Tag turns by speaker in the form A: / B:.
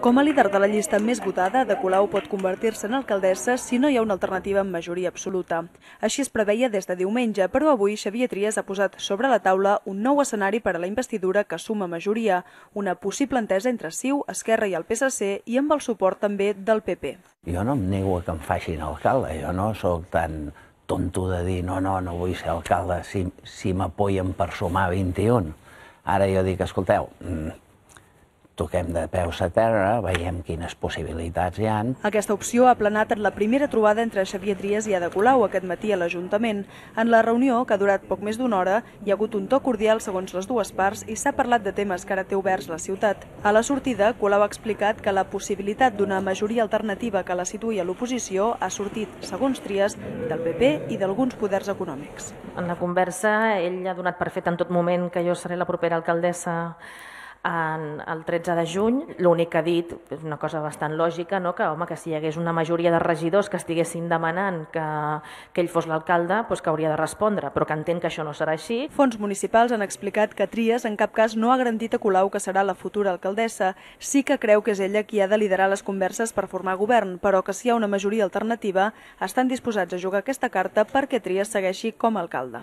A: Com a líder de la llista més votada, Ada Colau pot convertir-se en alcaldessa si no hi ha una alternativa amb majoria absoluta. Així es preveia des de diumenge, però avui Xavier Trias ha posat sobre la taula un nou escenari per a la investidura que suma majoria, una possible entesa entre CiU, Esquerra i el PSC i amb el suport també del PP.
B: Jo no em nego a que em facin alcalde, jo no sóc tan tonto de dir no vull ser alcalde si m'apoyen per sumar 21. Ara jo dic, escolteu, toquem de peus a terra, veiem quines possibilitats hi ha.
A: Aquesta opció ha planat en la primera trobada entre Xavier Trias i Ada Colau aquest matí a l'Ajuntament. En la reunió, que ha durat poc més d'una hora, hi ha hagut un to cordial segons les dues parts i s'ha parlat de temes que ara té oberts la ciutat. A la sortida, Colau ha explicat que la possibilitat d'una majoria alternativa que la situï a l'oposició ha sortit, segons Trias, del PP i d'alguns poders econòmics.
C: En la conversa, ell ha donat per fet en tot moment que jo seré la propera alcaldessa el 13 de juny. L'únic que ha dit, és una cosa bastant lògica, que si hi hagués una majoria de regidors que estiguessin demanant que ell fos l'alcalde, que hauria de respondre, però que entén que això no serà així.
A: Fons municipals han explicat que Trias en cap cas no ha garantit a Colau que serà la futura alcaldessa. Sí que creu que és ella qui ha de liderar les converses per formar govern, però que si hi ha una majoria alternativa estan disposats a jugar aquesta carta perquè Trias segueixi com a alcalde.